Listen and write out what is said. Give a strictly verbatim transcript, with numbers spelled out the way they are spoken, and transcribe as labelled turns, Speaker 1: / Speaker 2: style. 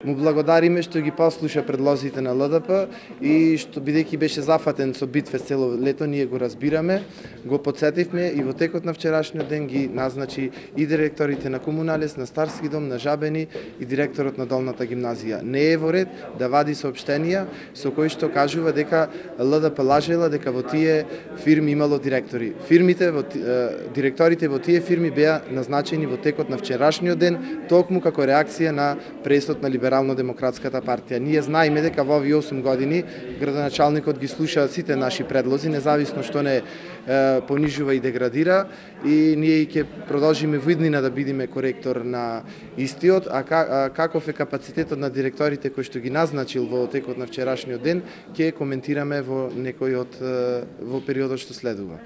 Speaker 1: Му благодариме што ги послуша предлозите на Л Д П и што бидејќи беше зафатен со Битфест цело лето, ние го разбираме, го потсетивме и во текот на вчерашниот ден ги назначи и директорите на Комуналес, на Старски дом, на Жабени и директорот на Долната гимназија. Не е во ред да вади соопштенија со кои што кажува дека Л Д П лажела дека во тие фирми имало директори. Фирмите во директорите во тие фирми беа назначени во текот на вчерашниот ден, токму како реакција на пресот на Либерално-демократската партија. Ние знаеме дека во овие осум години градоначалникот ги слуша сите наши предлози, независно што не е, понижува и деградира, и ние ќе продолжиме во иднина да бидеме коректор на истиот, а каков е капацитетот на директорите кои што ги назначил во текот на вчерашниот ден, ќе коментираме во некој од во периодот што следува.